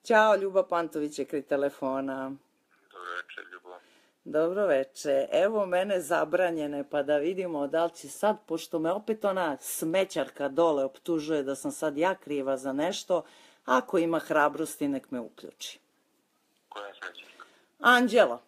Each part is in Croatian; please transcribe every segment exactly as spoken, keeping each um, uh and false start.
Ćao, Ljuba Pantović je kraj telefona. Dobro večer, Ljubo. Dobro veče. Evo mene zabranjene, pa da vidimo da li će sad, pošto me opet ona smećarka dole optužuje da sam sad ja kriva za nešto, ako ima hrabrosti nek me uključi. Koja je smećarka? Anđela.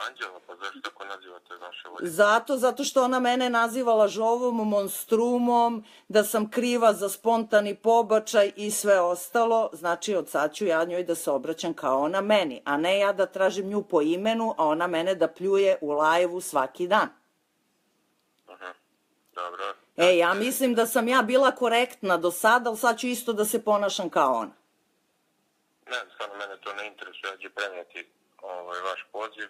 Anđela, pa zašto tako nazivate vaše volje? Zato, zato što ona mene naziva lažovom, monstrumom, da sam kriva za spontani pobačaj i sve ostalo. Znači, od sad ću ja njoj da se obraćam kao ona meni, a ne ja da tražim nju po imenu, a ona mene da pljuje u lajvu svaki dan. Aha, dobro. E, ja mislim da sam ja bila korektna do sada, ali sad ću isto da se ponašam kao ona. Ne, stvarno mene to ne interesuje, ja ću prenijeti ovaj, vaš poziv,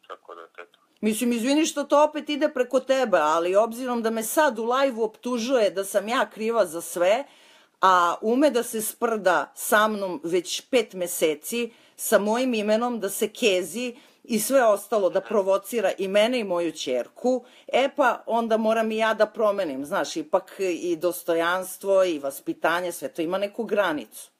tako da teto. Mislim, izvini što to opet ide preko tebe, ali obzirom da me sad u lajvu optužuje da sam ja kriva za sve, a ume da se sprda sa mnom već pet meseci, sa mojim imenom, da se kezi i sve ostalo, da provocira i mene i moju ćerku, e pa onda moram i ja da promenim, znaš, ipak i dostojanstvo i vaspitanje, sve to ima neku granicu.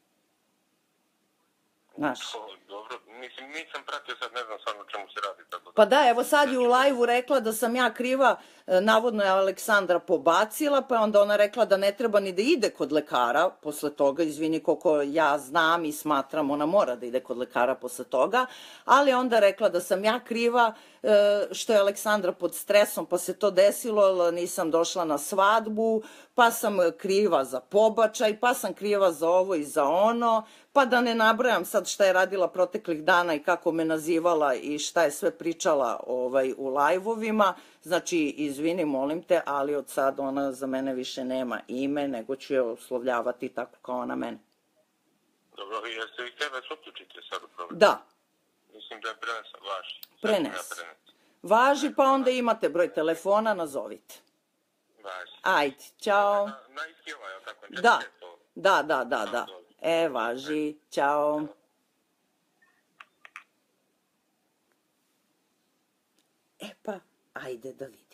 Znaš. To, dobro, mislim, nisam pratio sad, ne znam stvarno o čemu se radi. Tako da... Pa da, evo sad je u lajvu rekla da sam ja kriva, navodno je Aleksandra pobacila, pa je onda ona rekla da ne treba ni da ide kod lekara posle toga, izvini koliko ja znam i smatram, ona mora da ide kod lekara posle toga, ali onda rekla da sam ja kriva što je Aleksandra pod stresom, pa se to desilo, nisam došla na svadbu, pa sam kriva za pobačaj, pa sam kriva za ovo i za ono, pa da ne nabrajam sad šta je radila proteklih dana i kako me nazivala i šta je sve pričala ovaj, u lajvovima. Znači, izvini, molim te, ali od sad ona za mene više nema ime, nego ću je oslovljavati tako kao ona mene. Dobro, jeste vi htjeli da se uključite sad u problem? Da. Mislim da je prenesan vaš. Prenes. Važi, pa onda imate broj telefona, nazovite. Važi. Ajde, čao. Na, na iskila, je li tako? Da, da, da, da, da. E, važi, čao. E pa, ajde da vidimo.